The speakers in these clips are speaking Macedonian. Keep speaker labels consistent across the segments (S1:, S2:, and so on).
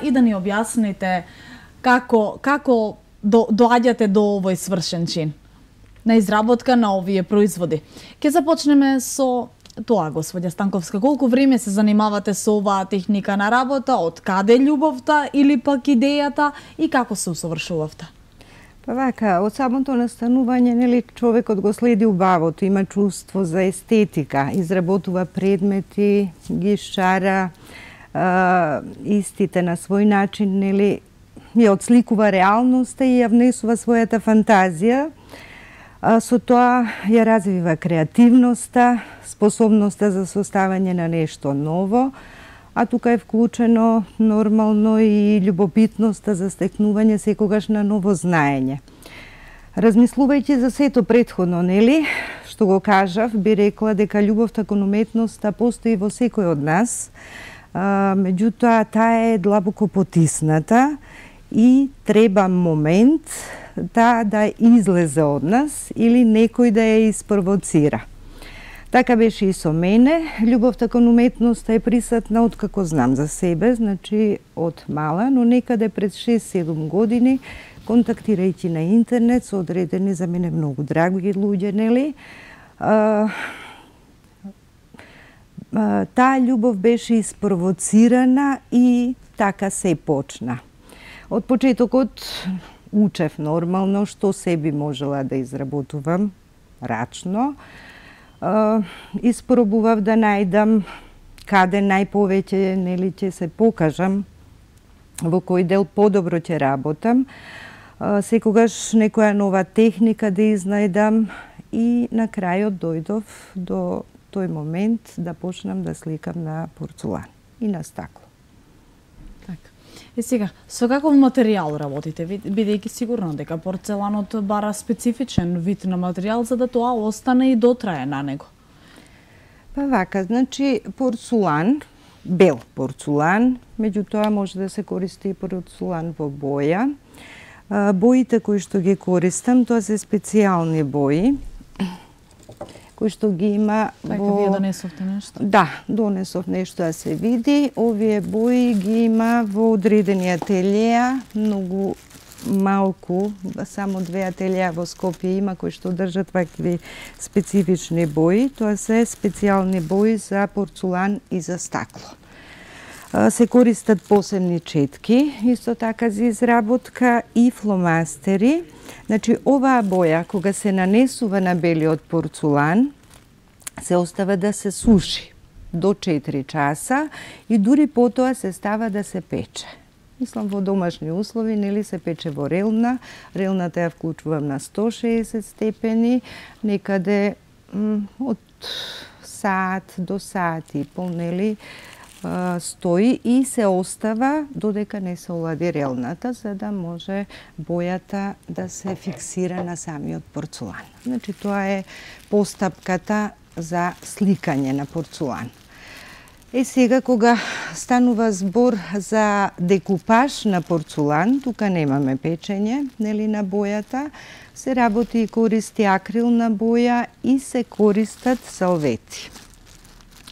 S1: И да ни објасните како доаѓате до овој свршен чин на изработка на овие производи. Ке започнеме со тоа, господја Станковска. Колку време се занимавате со оваа техника на работа? Од каде љубовта или пак идејата и како се усовршувавте?
S2: Па вака, од самото настанување, нели, човекот го следи убавото, има чувство за естетика, изработува предмети, ги шара истите на свој начин, нели, ја отсликува реалноста и ја внесува својата фантазија. Со тоа ја развива креативноста, способноста за составање на нешто ново, а тука е вклучено нормално и љубопитноста за стекнување секогаш на ново знаење. Размислувајќи за сето претходно, нели, што го кажав, би рекла дека љубовта кон уметноста постои во секој од нас, меѓутоа таа е длабоко потисната и треба момент да излезе од нас или некој да ја испровоцира. Така беше и со мене. Љубовта кон уметноста е присутна од како знам за себе, значи од мала, но некаде пред 6-7 години, контактирајќи на интернет со одредени за мене многу драги луѓе, нели, таа љубов беше испровоцирана и така се почна. Од почетокот учев нормално што се би можела да изработувам рачно. Испробував да најдам каде најповеќе, нели, ќе се покажам, во кој дел подобро ќе работам. Секогаш некоја нова техника да изнајдам и на крајот дојдов до тој момент да почнам да сликам на порцулан и на стакло.
S1: Така. И сега, со каков материјал работите, бидејќи сигурно дека порцеланот бара специфичен вид на материјал за да тоа остане и дотрае на него?
S2: Па вака, значи порцулан, бел порцулан, меѓутоа може да се користи и порцулан во боја. Боите кои што ги користам, тоа се специјални бои, кои што ги има
S1: во... Така, вие донесовте нешто?
S2: Да, донесов нешто да се види. Овие бои ги има во одредени ателија, многу малку, само 2 ателија во Скопје има кои што држат вакви специфични бои. Тоа се специјални бои за порцулан и за стакло. Се користат посебни четки, исто така за изработка и фломастери. Значи, оваа боја, кога се нанесува на белиот порцулан, се остава да се суши до 4 часа и дури потоа се става да се пече. Мислам, во домашни услови, нели, се пече во релна. Релната ја вклучувам на 160 степени, некаде од саат до саат и пол, нели, стои и се остава додека не се олади релната, за да може бојата да се фиксира на самиот порцулан. Значи, тоа е постапката за сликање на порцулан. Сега, кога станува збор за декупаж на порцулан, тука немаме печење, нели, на бојата, се работи и користи акрилна боја и се користат салвети.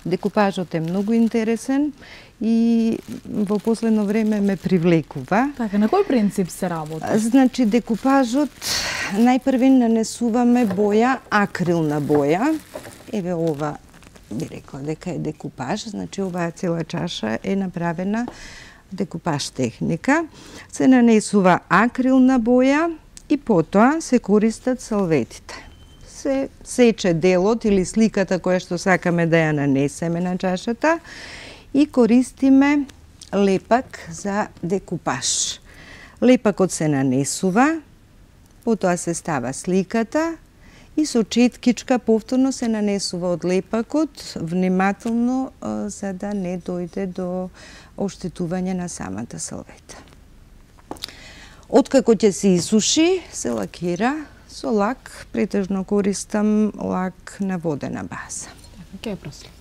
S2: Декупажот е многу интересен и во последно време ме привлекува.
S1: Така, на кој принцип се работи?
S2: Значи, декупажот, најпрви нанесуваме боја, акрилна боја. Еве ова, би рекла дека е декупаж, значи оваа цела чаша е направена декупаж техника. Се нанесува акрилна боја и потоа се користат салветите. Се сече делот или сликата која што сакаме да ја нанесеме на чашата и користиме лепак за декупаж. Лепакот се нанесува, потоа се става сликата и со четкичка повторно се нанесува од лепакот, внимателно за да не дојде до оштетување на самата салвета. Откако ќе се исуши, се лакира со лак, претежно користам лак на водена база.
S1: Ќе проследиме.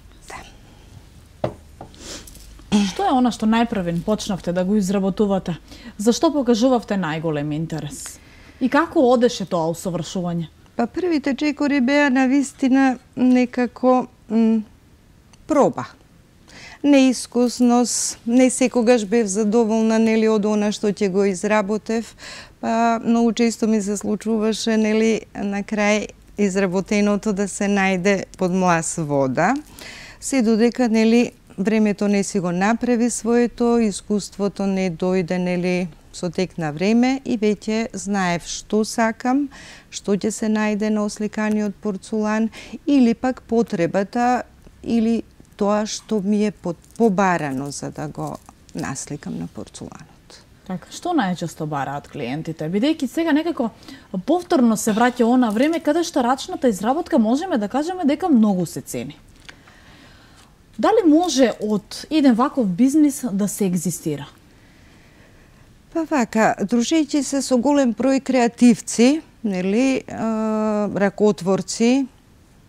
S1: Што е она што најпрвен почнавте да го изработувате? Зашто покажувавте најголем интерес? И како одеше тоа усовршување?
S2: Па првите чекори беа навистина некако проба. Неискусност, не секогаш бев задоволна нели од она што ќе го изработев, па многу често ми се случуваше нели на крај изработеното да се најде под млас вода. Се додека нели времето не си го направи своето, искуството не дојде нели со тек на време и веќе знаев што сакам, што ќе се најде на осликаниот порцулан или пак потребата или тоа што ми е побарано за да го насликам на порцуланот.
S1: Така, што најчесто бараат клиентите? Бидејќи сега некако повторно се враќа она време каде што рачната изработка можеме да кажеме дека многу се цени. Дали може од еден ваков бизнис да се екзистира?
S2: Па вака, дружејќи се со голем број креативци, нели, ракотворци,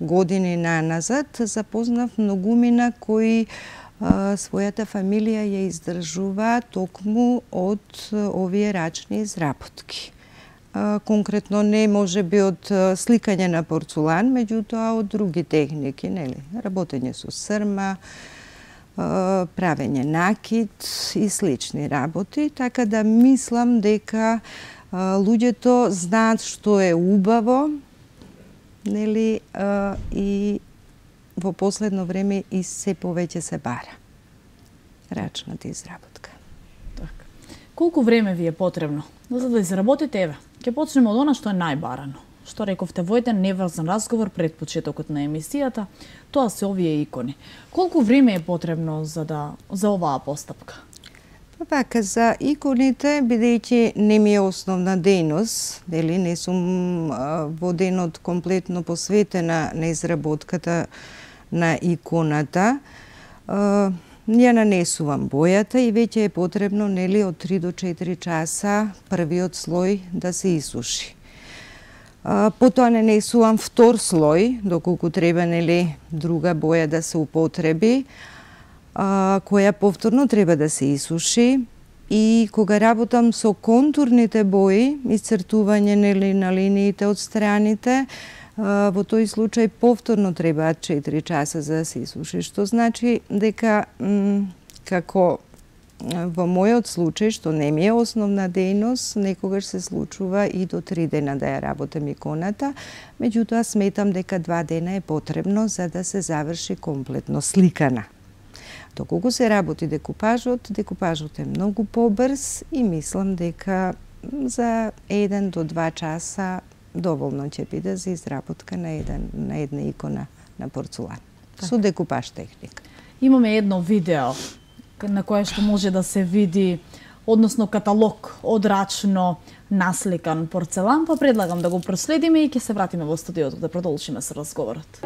S2: години наназад, запознав многумина кои својата фамилија ја издржува токму од овие рачни изработки. Конкретно не може би од сликање на порцулан, меѓутоа од други техники, нели, работење со срма, правење накид и слични работи, така да мислам дека луѓето знаат што е убаво, нели, и во последно време и се повеќе се бара рачната изработка.
S1: Така. Колку време ви е потребно за да изработите? Еве, ќе почнеме од она што е најбарано. Што рековте во еден неврзан разговор пред почетокот на емисијата, тоа се овие икони. Колку време е потребно за оваа постапка?
S2: Вака, за иконите, бидејќи не ми е основна дејност, дели не сум во денот комплетно посветена на изработката на иконата, ја нанесувам бојата и веќе е потребно нели од 3 до 4 часа првиот слој да се исуши. Потоа нанесувам втор слој, доколку треба нели друга боја да се употреби, која повторно треба да се исуши, и кога работам со контурните бои, исцртување нели на линиите од страните, во тој случај повторно требаат 4 часа за да се исуши, што значи дека како во мојот случај, што не ми е основна дејност, некогаш се случува и до 3 дена да ја работам иконата, меѓутоа сметам дека 2 дена е потребно за да се заврши комплетно сликана. Доколку се работи декупажот е многу побрз и мислам дека за 1 до 2 часа доволно ќе биде за изработка на една икона на порцулан. Так. Со декупаж техника.
S1: Имаме едно видео на кое што може да се види, односно каталог од рачно насликан порцелан, па предлагам да го проследиме и ќе се вратиме во студиото да продолжиме со разговорот.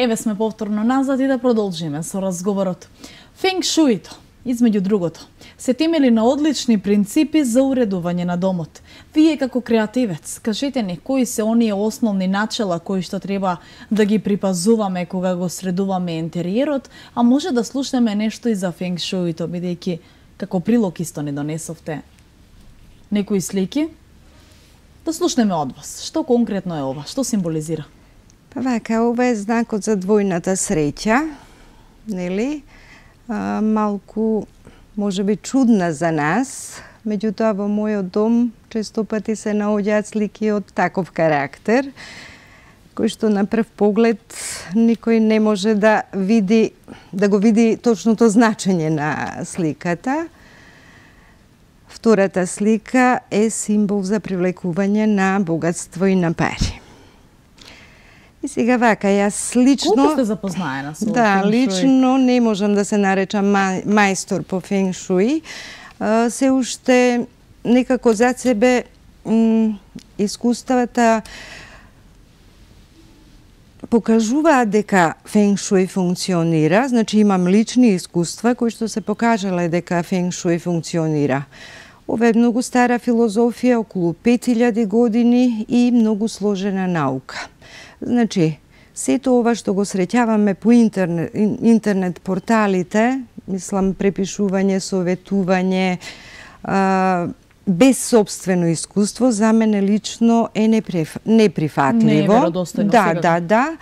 S1: Еве сме повторно назад и да продолжиме со разговорот. Фенг шуито, измеѓу другото, се темели на одлични принципи за уредување на домот. Вие како креативец, кажете ни кои се оние основни начела кои што треба да ги припазуваме кога го средуваме интериерот, а може да слушнеме нешто и за фенг шуито, бидејќи како прилог исто не донесовте некои слики. Да слушнеме од вас. Што конкретно е ова? Што символизира?
S2: Па вака, ова е знакот за двојната среќа, нели? Малку, може би, чудна за нас, меѓутоа во мојот дом често пати се наоѓаат слики од таков карактер, кој што на прв поглед никој не може да го види точното значење на сликата. Втората слика е символ за привлекување на богатство и на пари. И сега вака, јас лично...
S1: Колку сте запознаена со
S2: Да,
S1: фенг шуи?
S2: лично не можам да се наречам мајстор по фенг шуи. Се уште некако за себе искуствата покажуваат дека фенг шуи функционира, значи имам лични искуства кои што се покажале дека фенг шуи функционира. Ова е многу стара филозофија, околу 5000 години и многу сложена наука. Значи, сето ова што го среќаваме по интернет порталите, мислам препишување, советување, без собствено искуство, за мене лично е неприфатливо.
S1: Не е веродостојно.
S2: Да.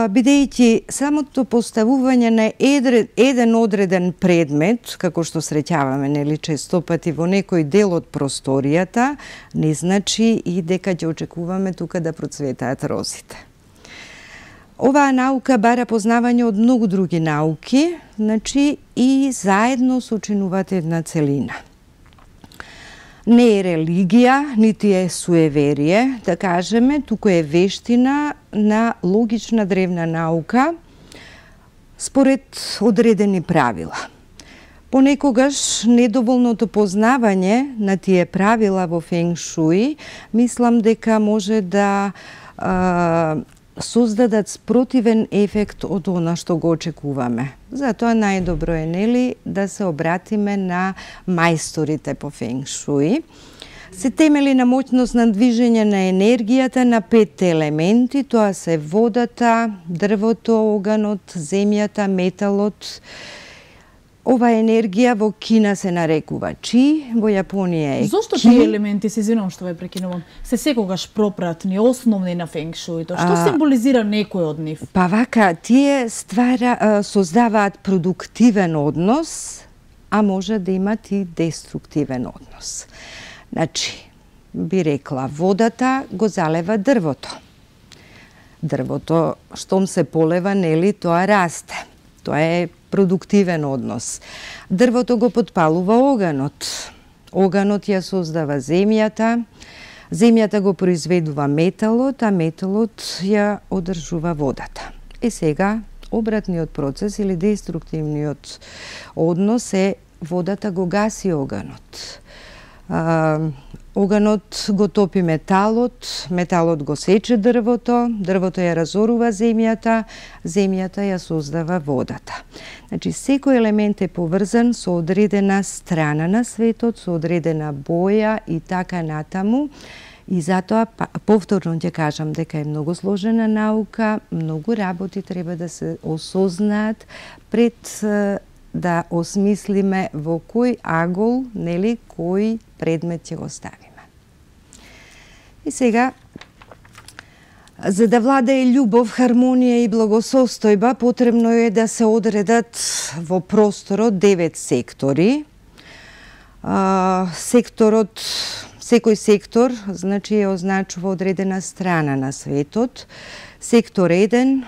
S2: Бидејќи самото поставување на еден одреден предмет, како што среќаваме, нели, често пати во некој дел од просторијата, не значи и дека ќе очекуваме тука да процветаат розите. Оваа наука бара познавање од многу други науки, значи и заедно сочинуваат една целина. Не е религија, нити е суеверие, да кажеме, туку е вештина на логична древна наука според одредени правила. Понекогаш недоволното познавање на тие правила во фенг шуи, мислам дека може да создадат спротивен ефект од она што го очекуваме. Затоа најдобро е, нели, да се обратиме на мајсторите по фенг шуи. Се темели на моќност на движење на енергијата на 5 елементи, тоа се водата, дрвото, оганот, земјата, металот. Ова енергија во Кина се нарекува чи, во Јапонија е
S1: Зошто
S2: ки.
S1: тие елементи, се извинувам што ве прекинувам, се секогаш пропратни, основни на фенг шуито? Што символизира некој од нив?
S2: Па вака, тие создаваат продуктивен однос, а може да имат и деструктивен однос. Значи, би рекла, водата го залева дрвото. Дрвото, штом се полева, нели, тоа расте. Тоа е продуктивен однос. Дрвото го потпалува оганот. Оганот ја создава земјата, земјата го произведува металот, а металот ја одржува водата. И сега, обратниот процес или деструктивниот однос е водата го гаси оганот. Оганот го топи металот, металот го сече дрвото, дрвото ја разорува земјата, земјата ја создава водата. Значи, секој елемент е поврзан со одредена страна на светот, со одредена боја и така натаму. И затоа, повторно ќе кажам дека е многу сложена наука, многу работи треба да се осознаат пред да осмислиме во кој агол, нели, кој предмет ќе го ставиме. И сега, за да владее љубов, хармонија и благосостојба, потребно е да се одредат во просторот 9 сектори. Секој сектор, значи, е означува одредена страна на светот. Сектор 1,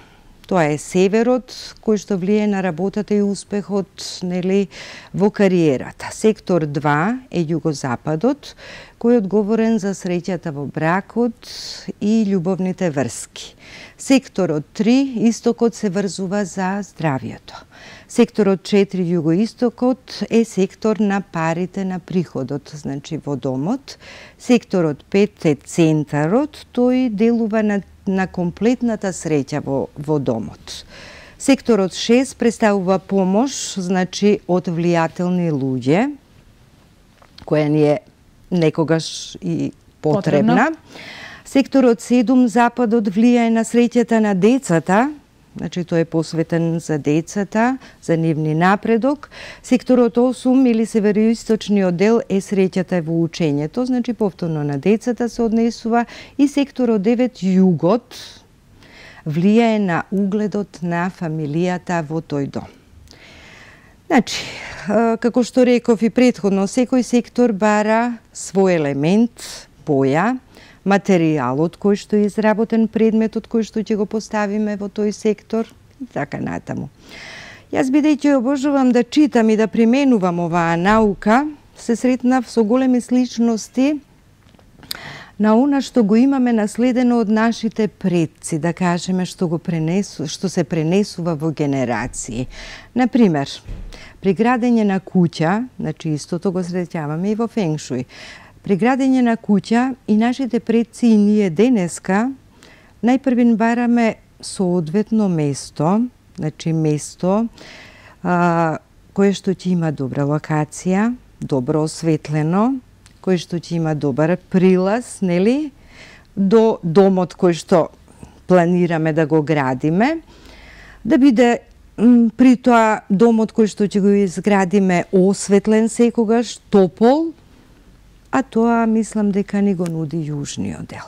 S2: тоа е северот, кој што влие на работата и успехот, нели, во кариерата. Сектор 2 е југозападот, кој е одговорен за среќата во бракот и љубовните врски. Секторот 3, истокот, се врзува за здравјето. Секторот 4, југоистокот, е сектор на парите, на приходот, значи во домот. Секторот 5 е центарот, тој делува на на комплетната среќа во домот. Секторот 6 представува помош, значи од влијателни луѓе, која ни е некогаш и потребна. Секторот 7 западот влијае на среќата на децата, значи тој е посветен за децата, за нивни напредок. Секторот 8 или североисточниот дел е среќата во учењето, значи повторно на децата се однесува, и секторот 9 југот влијае на угледот на фамилијата во тој дом. Значи, како што реков и претходно, секој сектор бара свој елемент, боја, материјалот кој што е изработен, предметот кој што ќе го поставиме во тој сектор и така натаму. Јас, бидејќи обожувам да читам и да применувам оваа наука, се сретнав со големи сличности на она што го имаме наследено од нашите предци, да кажеме, што се пренесува во генерации. Например, при градење на куќа, значи истото го среќаваме и во феншуј, при градење на куќа и нашите предци и ние денеска, најпрвин бараме соодветно место, значи место кое што ќе има добра локација, добро осветлено, кој што ќе има добар прилаз, нели, до домот кој што планираме да го градиме, да биде при тоа домот кој што ќе го изградиме осветлен секогаш, топол, а тоа мислам дека ни го нуди јужниот дел.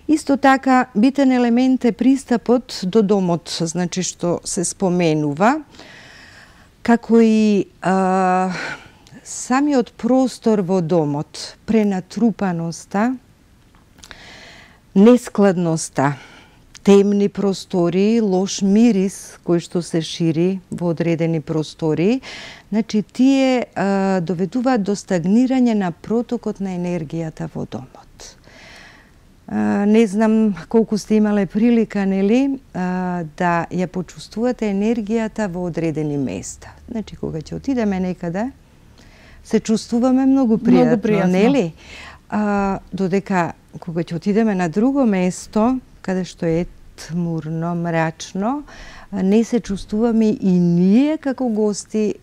S2: Исто така, битен елемент е пристапот до домот, значи што се споменува, како и самиот простор во домот, пренатрупаноста, нескладноста, темни простори, лош мирис кој што се шири во одредени простори, значи тие доведуваат до стагнирање на протокот на енергијата во домот. Не знам колку сте имале прилика, нели, да ја почувствувате енергијата во одредени места. Значи, кога ќе отидеме некаде, се чувствуваме многу пријатно, нели? Додека кога ќе отидеме на друго место, каде што е тмурно, мрачно, не се чувствуваме и ние како гости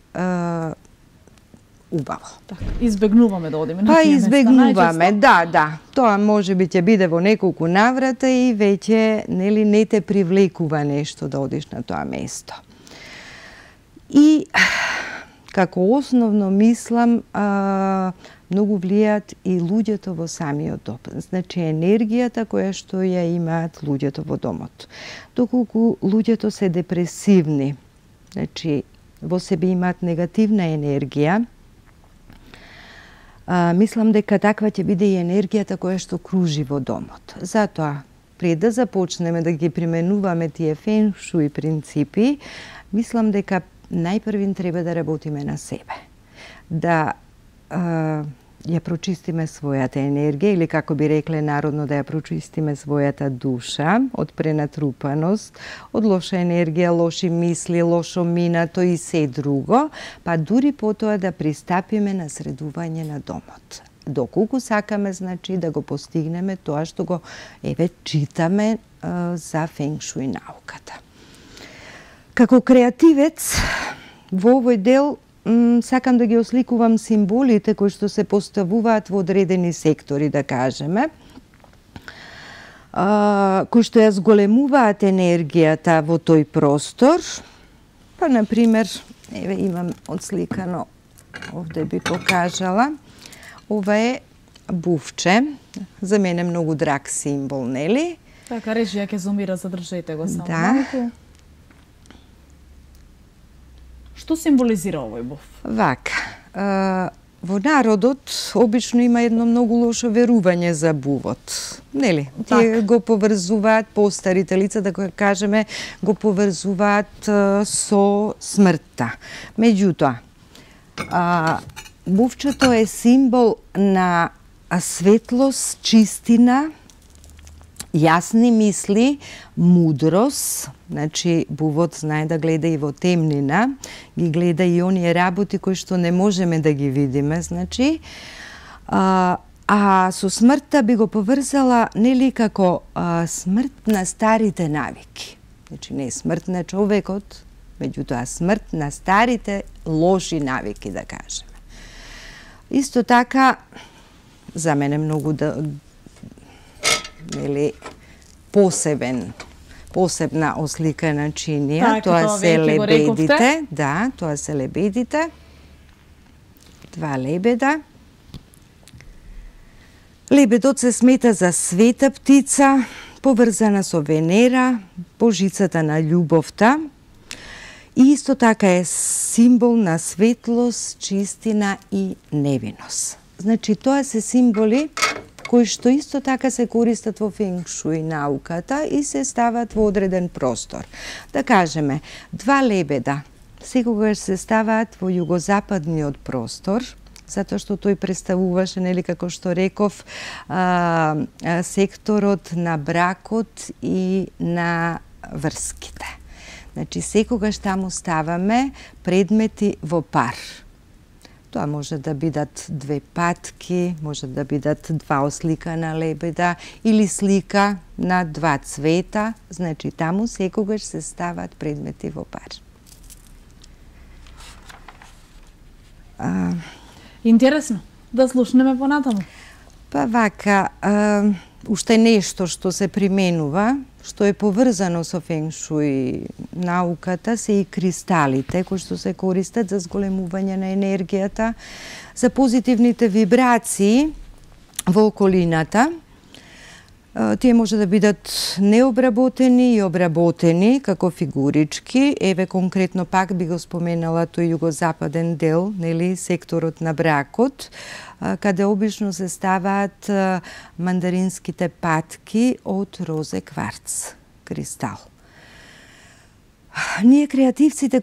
S2: убаво.
S1: Така, избегнуваме да одиме на
S2: тие
S1: места.
S2: Избегнуваме, да. Тоа можеби ќе биде во неколку наврата и веќе нели не те привлекува нешто да одиш на тоа место. И како основно мислам, многу влијаат и луѓето во самиот дом. Значи енергијата која што ја имаат луѓето во домот. Доколку луѓето се депресивни, значи во себе имаат негативна енергија, мислам дека таква ќе биде и енергијата која што кружи во домот. Затоа, пред да започнеме да ги применуваме тие феншуј принципи, мислам дека најпрвин треба да работиме на себе. Да ја прочистиме својата енергија, или како би рекле народно, да ја прочистиме својата душа од пренатрупаност, од лоша енергија, лоши мисли, лошо минато и се друго, па дури потоа да пристапиме на средување на домот. Доколку сакаме, значи, да го постигнеме тоа што го читаме за феншуј науката. Како креативец, во овој дел сакам да ги осликувам символите кои што се поставуваат во одредени сектори, да кажеме, кои што ја зголемуваат енергијата во тој простор. Па, например, еве имам отсликано, овде би покажала, ова е бувче, за мене многу драг символ, нели?
S1: Така, режија ќе зумира, задржете го само малку. Што символизира овој був?
S2: Вака, во народот обично има едно многу лошо верување за бувот. Нели? Тие го поврзуваат, постарите лица, да го кажеме, го поврзуваат со смртта. Меѓутоа, бувчето е символ на светлост, чистина, јасни мисли, мудрост. Значи, бувот знае да гледа и во темнина, ги гледа и оние работи кои што не можеме да ги видиме, значи. А А со смртта би го поврзала нели како смрт на старите навики. Значи не смрт на човекот, меѓутоа смрт на старите лоши навики, да кажеме. Исто така, за мене многу нели посебна ослика на чинија, тоа се лебедите, да, тоа се лебедите. 2 лебеда. Лебедот се смета за света птица, поврзана со Венера, божицата на љубовта, и исто така е символ на светлост, чистина и невиност. Значи, тоа се символи кои што исто така се користат во фенг шуј науката и се стават во одреден простор. Да кажеме, 2 лебеда секогаш се ставаат во југозападниот простор, затоа што тој представуваше, нели, како што реков, секторот на бракот и на врските. Значи, секогаш таму ставаме предмети во пар. Тоа може да бидат 2 патки, може да бидат 2 осликана лебеда или слика на 2 цвета. Значи, таму секогаш се стават предмети во пар.
S1: Интересно, да слушнеме понатаму.
S2: Па вака, уште нешто што се применува, што е поврзано со фенг шуј науката, се и кристалите кои што се користат за зголемување на енергијата, за позитивните вибрации во околината. Тие може да бидат необработени и обработени како фигурички. Еве конкретно пак би го споменала тој југозападен дел, нели, секторот на бракот, каде обично се ставаат мандаринските патки од розе кварц, кристал. Ние креативците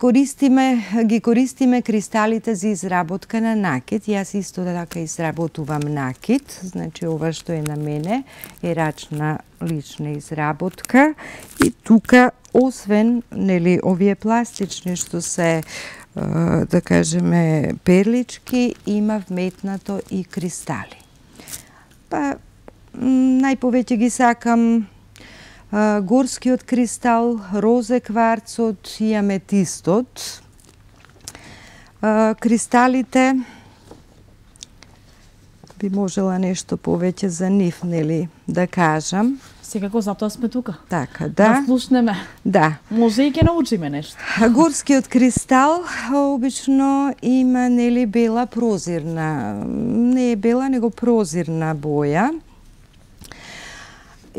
S2: ги користиме кристалите за изработка на накид. Јас исто така изработувам накид, значи ова што е на мене е рачна лична изработка. И тука, освен, нели, овие пластични што се, да кажеме, перлички, има вметнато и кристали. Па, најповеќе ги сакам горскиот кристал, розе кварцот и аметистот. Кристалите, би можела нешто повеќе за нив, нели, да кажам.
S1: Секако затоа сме тука.
S2: Така, да.
S1: Да слушнеме.
S2: Да.
S1: Може и ќе научиме нешто.
S2: Горскиот кристал обично има, нели, бела прозирна, не е бела, него прозирна боја.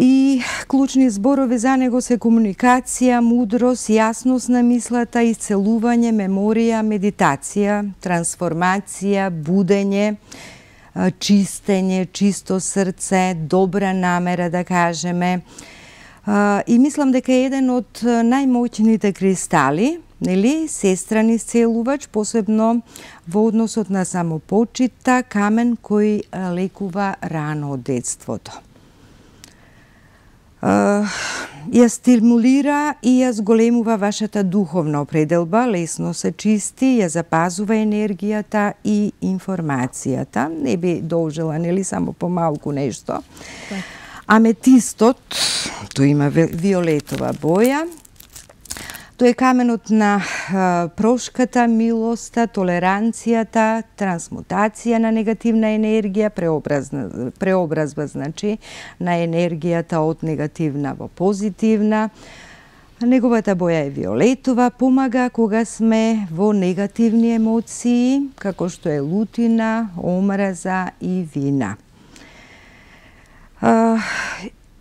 S2: И клучни зборови за него се комуникација, мудрост, јасност на мислата, исцелување, меморија, медитација, трансформација, будење, чистење, чисто срце, добра намера, да кажеме. И мислам дека е еден од најмоćните кристали, нели, сестран исцелувач, посебно во односот на самопочита, камен кој лекува рано од детството. Ја стимулира и ја зголемува вашата духовна определба, лесно се чисти, ја запазува енергијата и информацијата. Не би должела, нели, само помалку нешто. Аметистот, тој има виолетова боја. Тој е каменот на прошката, милоста, толеранцијата, трансмутација на негативна енергија, преобразба, значи, на енергијата од негативна во позитивна. Неговата боја е виолетова, помага кога сме во негативни емоции, како што е лутина, омраза и вина.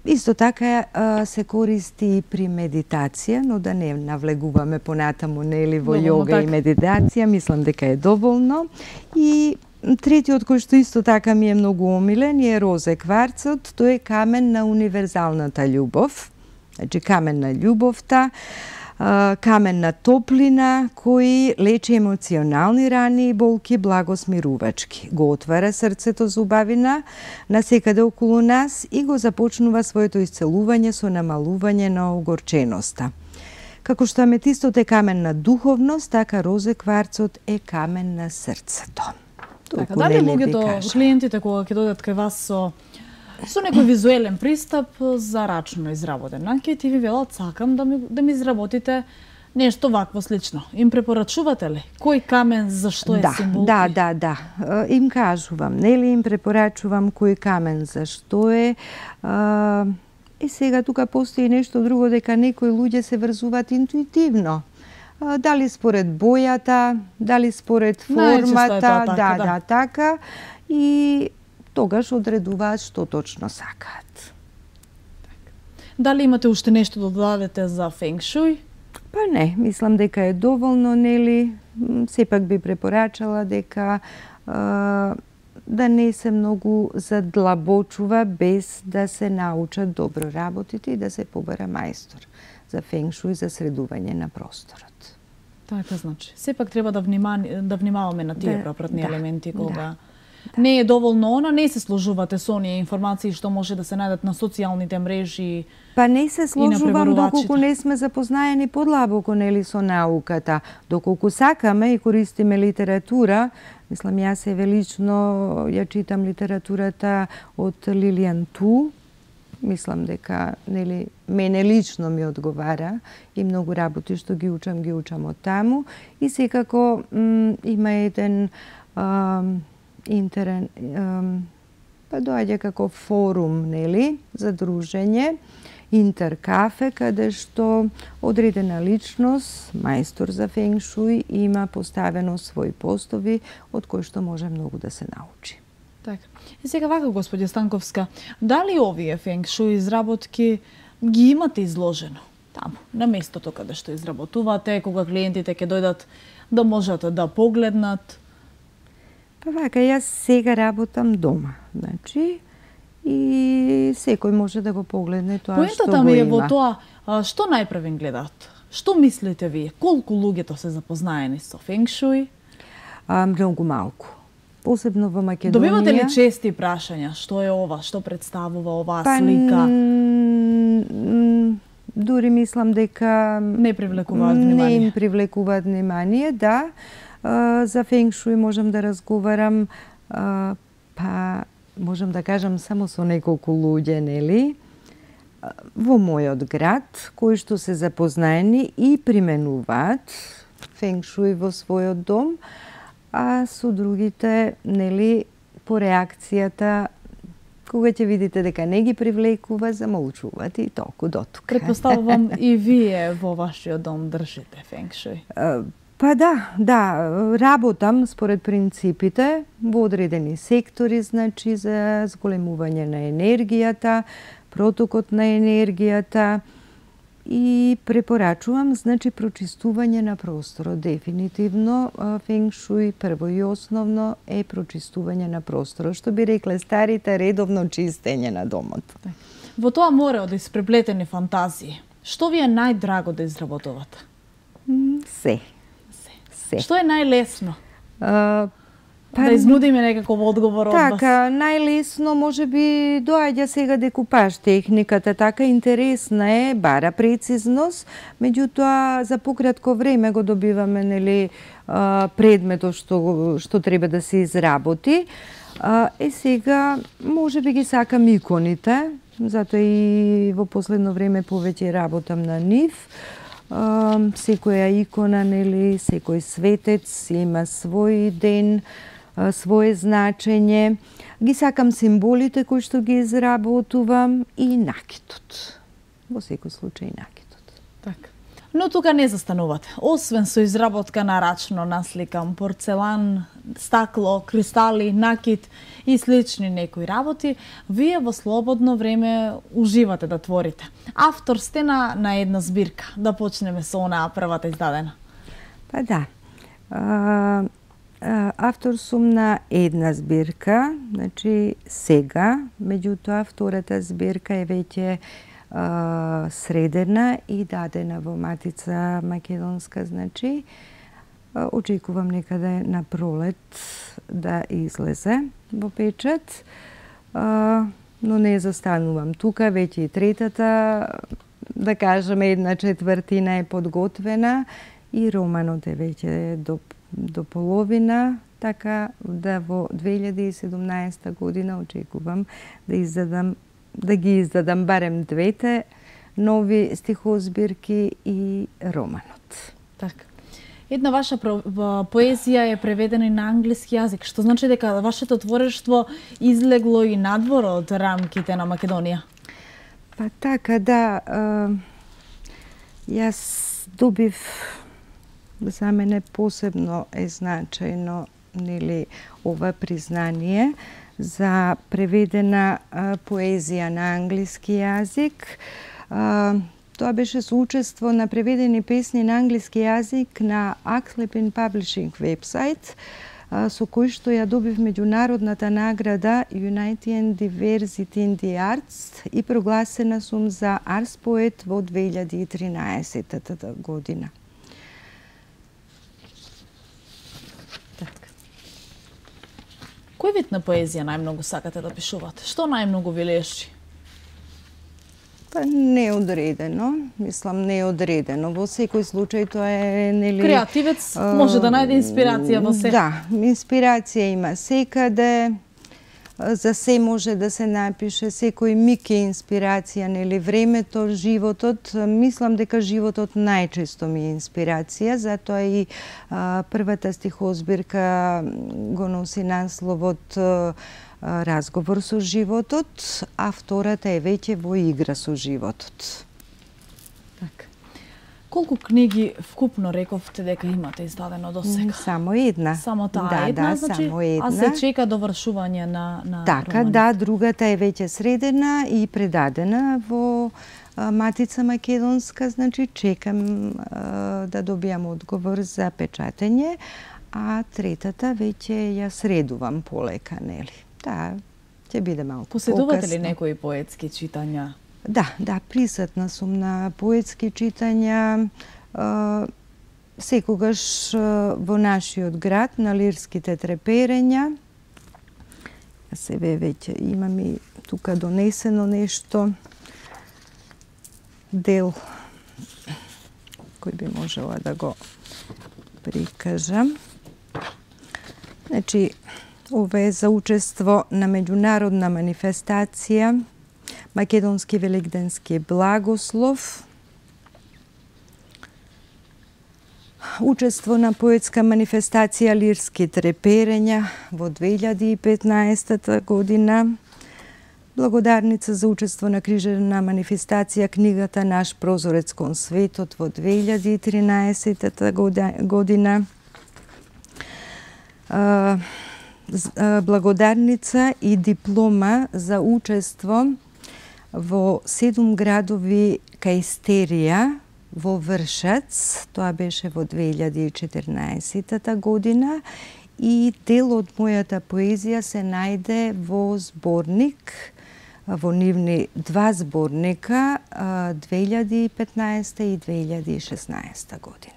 S2: Исто така се користи и при медитација, но да не навлегуваме понатаму, нели, во јога и медитација, мислам дека е доволно. И третиот кој што исто така ми е многу омилен е розе кварцот, тој е камен на универзалната љубов, значи камен на љубовта, камен на топлина, кој лечи емоционални рани и болки благосмирувачки. Го отвара срцето за убавина на секаде околу нас и го започнува своето исцелување со намалување на огорченоста. Како што аметистот е камен на духовност, така розе кварцот е камен на срцето.
S1: Така, дали луѓето, клиентите кога ќе дојдат кај вас со некој визуелен пристап за рачно изработен накид и ви велат сакам да ми изработите нешто вакво слично. Им препорачувате ли? Кој камен зашто е символ?
S2: Да. Им кажувам, нели им препорачувам кој камен зашто е. И сега тука постои нешто друго, дека некои луѓе се врзуваат интуитивно. Дали според бојата, дали според формата, така. И тогаш одредуваат што точно сакаат.
S1: Дали имате уште нешто да додадете за фенг шуј?
S2: Па не, мислам дека е доволно, нели? Сепак би препорачала дека да не се многу задлабочува без да се научат добро работите и да се побара мајстор за фенг шуј, за средување на просторот.
S1: Така значи. Сепак треба да внимаваме на тие пропратни елементи кога не е доволно не се сложувате со оние информации што може да се најдат на социјалните мрежи.
S2: Па не се сложувам доколку не сме запознаени подлабоко, нели, со науката. Доколку сакаме и користиме литература, мислам, јас лично ја читам литературата од Лилијан Ту. Мислам дека, нели, мене лично ми одговара и многу работи што ги учам од таму. И секако има еден па доаѓа како форум, нели, за дружење, Интеркафе, каде што одредена личност, мајстор за фенг шуј, има поставено своји постови од кои што може многу да се научи.
S1: Така. И сега вака, господја Станковска, дали овие фенг шуј изработки ги имате изложено таму, на местото каде што изработувате, кога клиентите ќе дојдат да можат да погледнат?
S2: Па вака, јас сега работам дома, значи, и секој може да го погледне тоа што го има.
S1: Поентата ми е во тоа, што најпрвен гледаат? Што мислите вие? Колку луѓето се запознаени со фенг шуј?
S2: Многу малку. Посебно во Македонија.
S1: Добивате ли чести прашања? Што е ова? Што представува оваа слика?
S2: Дури мислам дека
S1: не привлекуваат внимание.
S2: Не им привлекуваат внимание, да. За фенг шуј можам да разговарам, па можам да кажам само со неколку луѓе, нели, во мојот град, кои што се запознаени и применуваат фенг шуј во својот дом, а со другите, нели, по реакцијата, кога ќе видите дека не ги привлекува, замолчуваат и толку дотука.
S1: Предпоставувам и вие во вашиот дом држите фенг шуј.
S2: Па да, работам според принципите во одредени сектори, значи за зголемување на енергијата, протокот на енергијата и препорачувам, значи, прочистување на просторот. Дефинитивно, фенг шуј прво и основно е прочистување на просторот, што би рекле старите, редовно чистење на домот.
S1: Во тоа море од испреплетени фантазии, што ви е најдраго да изработувате?
S2: Се.
S1: Што е најлесно? Да изнудиме некаков одговор од вас.
S2: Така, најлесно можеби доаѓа сега декупаж техниката, така интересна е, бара прецизност, меѓутоа за пократко време го добиваме, нели, предметот што треба да се изработи. Сега можеби ги сакам иконите, затоа и во последно време повеќе работам на нив. Секоја икона, нели, секој светец има свој ден, свое значење. Ги сакам символите кои што ги изработувам и накитот. Во секој случај накитот.
S1: Така. Но тука не застанувате. Освен со изработка на рачно насликам порцелан, стакло, кристали, накит и слични некои работи, вие во слободно време уживате да творите. Автор сте на една збирка. Да почнеме со онаа првата издадена.
S2: Па да. Автор сум на една збирка, значи сега, меѓутоа втората збирка е веќе средена и дадена во Матица Македонска, значи очекувам некаде на пролет да излезе во печат, но не застанувам тука, веќе и третата, да кажеме, 1/4 е подготвена и романот е веќе до половина, така да во 2017 година очекувам да ги издадам барем двете нови стихозбирки и романот.
S1: Така. Една ваша поезија е преведена и на англиски јазик, што значи дека вашето творештво излегло и надвор од рамките на Македонија.
S2: Па така, да. Јас добив, за мене посебно е значајно, нели, ова признание за преведена поезија на англиски јазик. Тоа беше соучество на преведени песни на англиски јазик на Акслепин Publishing вебсайт, со кој што ја добив меѓународната награда United Diversity in the Arts и прогласена сум за Арс поет во 2013 година.
S1: Кој вид на поезија најмногу сакате да пишувате? Што најмногу ви лежи?
S2: Па неодредено, мислам неодредено. Во секој случај тоа е, нели...
S1: Креативец може да најде инспирација во се.
S2: Да, инспирација има секаде, за се може да се напише, секој миг е инспирација, нели, времето, животот. Мислам дека животот најчесто ми е инспирација, затоа и првата стихозбирка го носи насловот Разговор со животот, а втората е веќе во игра со животот.
S1: Така. Колку книги вкупно рековте дека имате издадено до сега?
S2: Само една.
S1: Само таа една, значи,
S2: само една.
S1: А се чека довршување на
S2: така,
S1: романи.
S2: Да, другата е веќе средена и предадена во Матица Македонска, значи чекам да добијам одговор за печатење, а третата веќе ја средувам полека, нели? Да, ќе биде малку покасно.
S1: Поседувате ли некои поетски читања?
S2: Да, присутна сум на поетски читања, секогаш во нашиот град, на лирските треперења. Себе веќе имам и тука донесено нешто, дел кој би можела да го прикажам. Значи, ова е за учество на меѓународна манифестација Македонски великденски благослов. Учество на поетска манифестација Лирски треперења во 2015 година. Благодарница за учество на крижена манифестација книгата Наш прозорец кон светот во 2013 година. Благодарница и диплома за учество во 7 градови кај во Вршац, тоа беше во 2014 година, и дел од мојата поезија се најде во зборник, во нивни 2 зборника 2015 и 2016 година.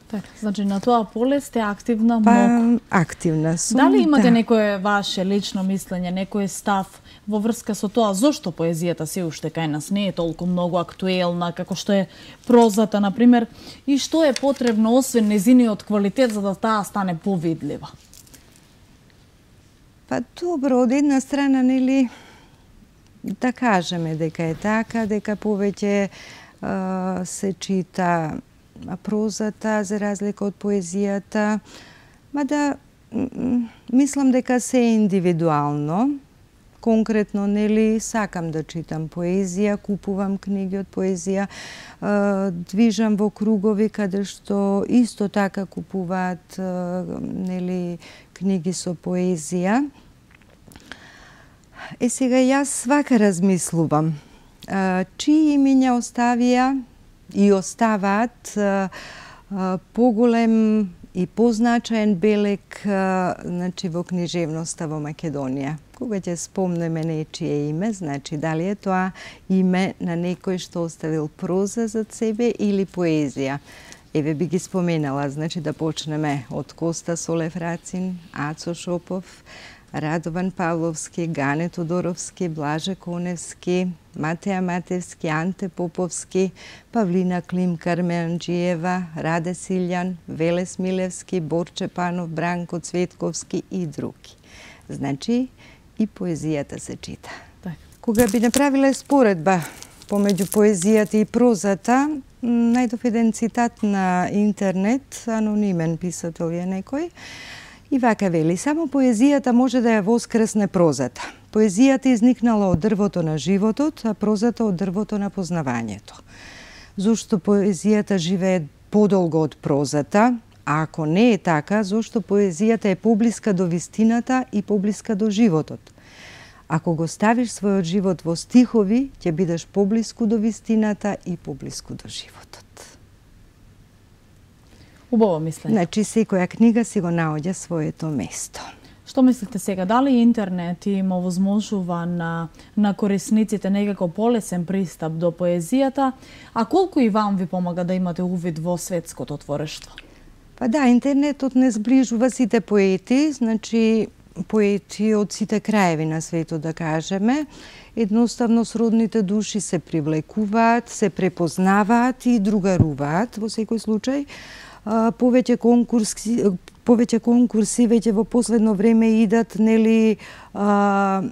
S1: Така, значи на тоа поле сте активна многу.
S2: Активна сум.
S1: Дали имате некое ваше лично мислење, некој став во врска со тоа зошто поезијата се уште кај нас не е толку многу актуелна како што е прозата, например, и што е потребно освен незиниот квалитет за да таа стане повидлива?
S2: Па добро, од една страна, нели, да кажеме дека е така, дека повеќе се чита прозата за разлика од поезијата, мада мислам дека се е индивидуално. Конкретно, нели, сакам да читам поезија, купувам книги од поезија, движам во кругови каде што исто така купуваат, нели, книги со поезија. Сега јас вака размислувам. Чии имиња оставија и оставаат поголем и позначаен белег, значи, во книжевноста во Македонија. Кога ќе спомнеме нечие име, значи дали е тоа име на некој што оставил проза зад себе или поезија. Еве би ги споменала, значи да почнеме од Коста Солев Рацин, Ацо Шопов, Радован Павловски, Гане Тодоровски, Блаже Коневски, Матеја Матевски, Анте Поповски, Павлина Клим Кармеанџиева, Раде Силјан, Велес Милевски, Борче Панов, Бранко Цветковски и други. Значи и поезијата се чита.
S1: Так.
S2: Кога би направила споредба помеѓу поезијата и прозата, најдов еден цитат на интернет, анонимен писател е некој, и вака вели: само поезијата може да ја воскресне прозата. Поезијата изникнала од дрвото на животот, а прозата од дрвото на познавањето. Зошто поезијата живее подолго од прозата? А ако не е така, зошто поезијата е поблиска до вистината и поблиска до животот? Ако го ставиш својот живот во стихови, ќе бидеш поблиску до вистината и поблиску до животот.
S1: Убаво мислење.
S2: Значи, секоја книга си го наоѓа своето место.
S1: Што мислите сега? Дали интернет им овозможува на корисниците некако полесен пристап до поезијата, а колку и вам ви помага да имате увид во светското творештво?
S2: Па да, интернетот не сближува сите поети, значи поети од сите краеви на светот, да кажеме. Едноставно сродните души се привлекуваат, се препознаваат и другаруваат во секој случај. Повеќе конкурси веќе во последно време идат, нели, на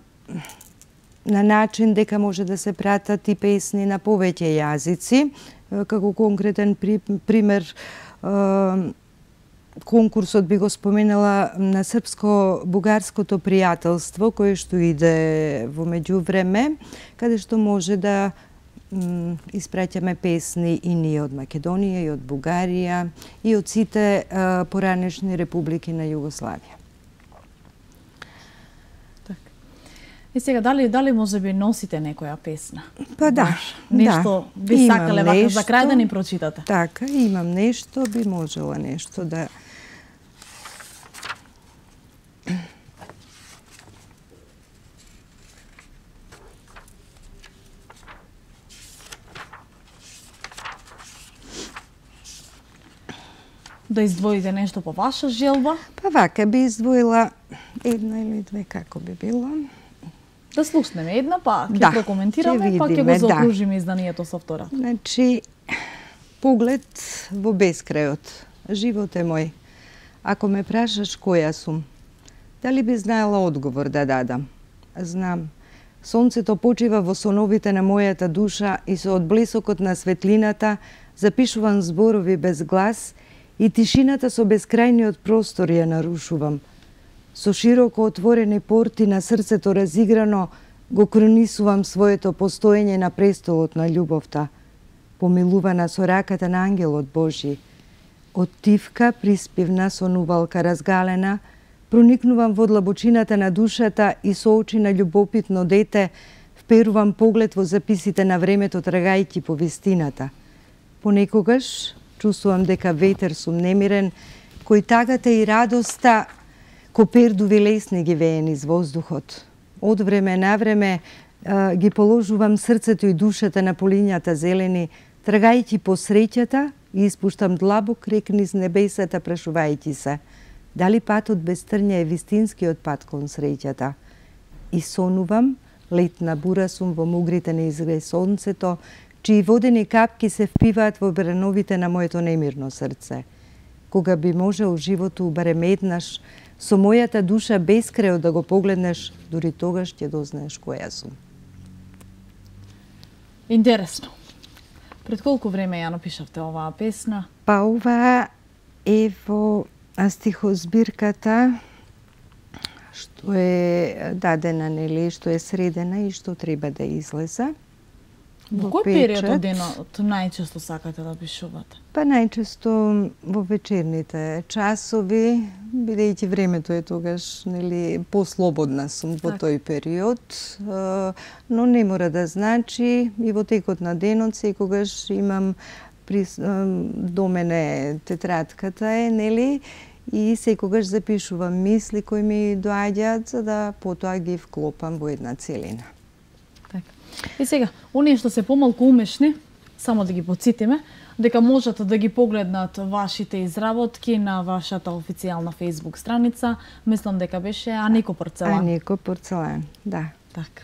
S2: начин дека може да се пратат и песни на повеќе јазици. Како конкретен пример, конкурсот би го споменала на српско-бугарското пријателство, кое што иде во меѓувреме, каде што може да испраќаме песни и ние од Македонија, и од Бугарија, и од сите поранешни републики на Југославија.
S1: Так. И сега, дали може би носите некоја песна?
S2: Па да.
S1: Нешто би сакале вака за крај да ни прочитате?
S2: Така, имам нешто, би можела нешто да...
S1: Да издвоите нешто по ваша желба?
S2: Па вака би издвоила една или две, како би било.
S1: Да слушнеме една, па ќе прокоментираме, па ќе го заокружиме изданието со втора.
S2: Значи, поглед во бескрајот. Живот е мој. Ако ме прашаш која сум, дали би знаела одговор да дадам? Знам. Сонцето почива во соновите на мојата душа и со одблесокот на светлината запишувам зборови без глас и тишината со бескрајниот простор ја нарушувам. Со широко отворени порти на срцето разиграно го кронисувам своето постоење на престолот на љубовта, помилувана со раката на ангелот Божи. Од тивка приспивна сонувалка разгалена, проникнувам во длабочината на душата и со очи на љубопитно дете вперувам поглед во записите на времето трагајќи по вистината. Понекогаш чувствувам дека ветер сум немирен, кој тагата и радоста ко пердуви лесни ги вее низ воздухот. Од време на време ги положувам срцето и душата на полињата зелени, трагајќи по среќата и испуштам длабок рек низ небесата, прашувајќи се дали патот без трња е вистинскиот пат кон среќата. И сонувам, летна бура сум во мугрите на изгре сонцето, чии водени капки се впиваат во бреновите на моето немирно срце. Кога би можел животу барем еднаш, со мојата душа бескрајот да го погледнеш, дури тогаш ќе дознаеш која сум.
S1: Интересно. Пред колку време ја напишавте оваа песна?
S2: Па ова е во стихозбирката што е дадена, нели, што е средена и што треба да излезе.
S1: Во кој период од денот најчесто сакате да пишувате?
S2: Па најчесто во вечерните часови, бидејќи времето е тогаш, нели, послободна сум во тој период, но не мора да значи и во текот на денот секогаш имам до мене тетрадката е, нели, и секогаш запишувам мисли кои ми доаѓаат за да потоа ги вклопам во една целина.
S1: И сега, оние што се помалку умешни, само да ги подсетиме, дека можат да ги погледнат вашите изработки на вашата официјална Facebook страница. Мислам дека беше Анико Порцелан.
S2: Анико Порцелан, да.
S1: Така.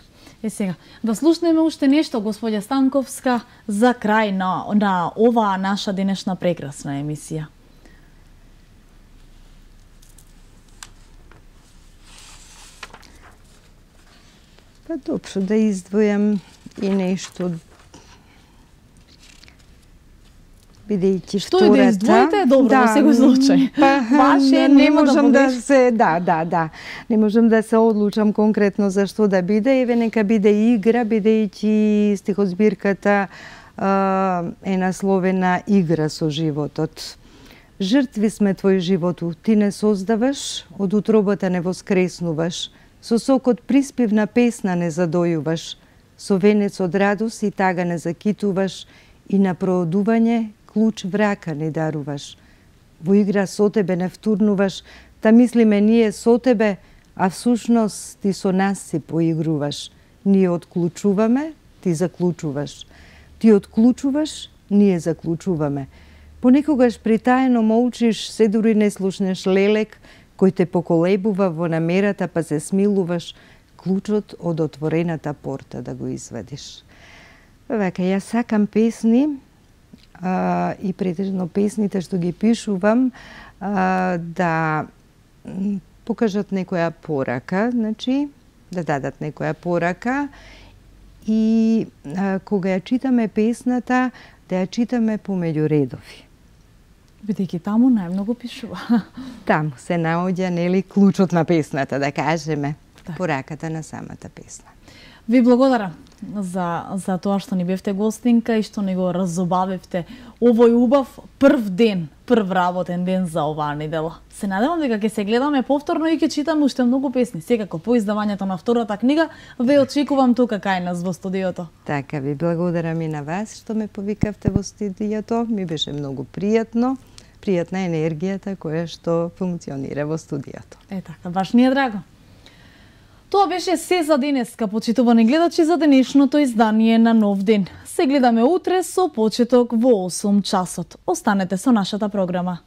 S1: Сега, да слушнеме уште нешто, господја Станковска, за крај на оваа наша денешна прекрасна емисија.
S2: Па добро, да издвојам и нешто. Бидејќи
S1: што и да издвоите, добро, во секој случај.
S2: Ваше не можам да се, да. Не можам да се одлучам конкретно за што да биде, еве нека биде игра, бидејќи стихозбирката е насловена Игра со животот. Жртви сме твој животу, ти не создаваш, од утробата не воскреснуваш, со сокот приспивна песна не задојуваш, со венец од радост и тага не закитуваш, и на проодување клуч врака не даруваш. Во игра со тебе не втурнуваш, та мислиме ние со тебе, а всушност ти со нас си поигруваш. Ние отклучуваме, ти заклучуваш. Ти отклучуваш, ние заклучуваме. Понекогаш притаено молчиш, се дури не слушнеш лелек, кој те поколебува во намерата, па се смилуваш, клучот од отворената порта да го извадиш. Вака, јас сакам песни, и претежно песните што ги пишувам, да покажат некоја порака, значи, да дадат некоја порака, и кога ја читаме песната, да ја читаме помеѓу редови.
S1: Бидејќи таму најмногу пишува.
S2: Таму се наоѓа, нели, клучот на песната, да кажеме, пораката на самата песна.
S1: Ви благодарам за тоа што ни бевте гостинка и што ни го разобавивте овој убав прв ден, прв работен ден за оваа недела. Се надевам дека ќе се гледаме повторно и ќе читаме уште многу песни. Секако по издавањето на втората книга ве очекувам тука кај нас во студиото.
S2: Така, ви благодарам и на вас што ме повикавте во студиото. Ми беше многу пријатно. Пријатна енергијата која што функционира во студиото.
S1: Така, баш ни е драго. Тоа беше се за денеска, почитувани гледачи, за денешното издание на Нов ден. Се гледаме утре со почеток во 8 часот. Останете со нашата програма.